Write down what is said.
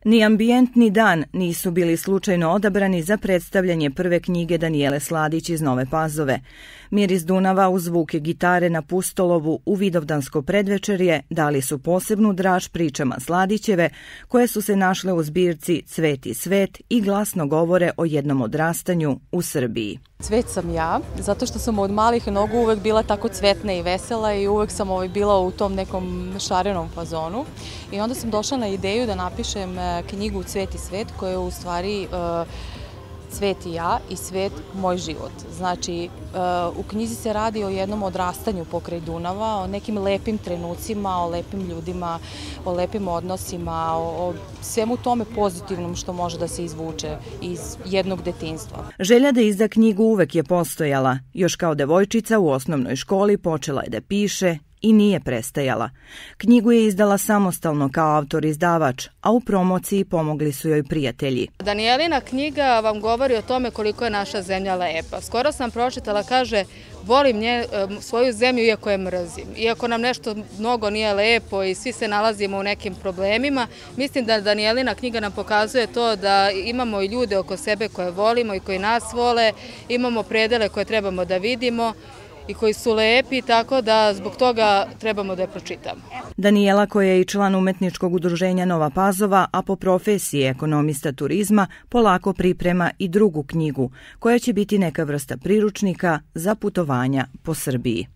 Ni ambijent ni dan nisu bili slučajno odabrani za predstavljanje prve knjige Danijele Sladić iz Nove Pazove. Miris Dunava uz zvuke gitare na Pustolovu u vidovdansko predvečerje dali su posebnu draž pričama Sladićeve koje su se našle u zbirci Cvet i svet i glasno govore o jednom odrastanju u Srbiji. Cvet sam ja, zato što sam od malih nogu uvek bila tako cvetna i vesela i uvek sam bila u tom nekom šarenom fazonu. I onda sam došla na ideju da napišem knjigu Cvet i svet koja je u stvari Cvet i ja i svet moj život. Znači, u knjizi se radi o jednom odrastanju pokraj Dunava, o nekim lepim trenucima, o lepim ljudima, o lepim odnosima, o svemu tome pozitivnom što može da se izvuče iz jednog detinjstva. Želja da izda knjigu uvek je postojala. Još kao devojčica u osnovnoj školi počela je da piše i nije prestajala. Knjigu je izdala samostalno kao autor-izdavač, a u promociji pomogli su joj prijatelji. Danijelina knjiga vam govori o tome koliko je naša zemlja lepa. Skoro sam pročitala, kaže, volim svoju zemlju iako je mrzim. Iako nam nešto mnogo nije lepo i svi se nalazimo u nekim problemima, mislim da Danijelina knjiga nam pokazuje to da imamo i ljude oko sebe koje volimo i koji nas vole, imamo predele koje trebamo da vidimo i koji su lepi, tako da zbog toga trebamo da je pročitamo. Danijela, koja je i član umetničkog udruženja Nova Pazova, a po profesiji ekonomista turizma, polako priprema i drugu knjigu, koja će biti neka vrsta priručnika za putovanja po Srbiji.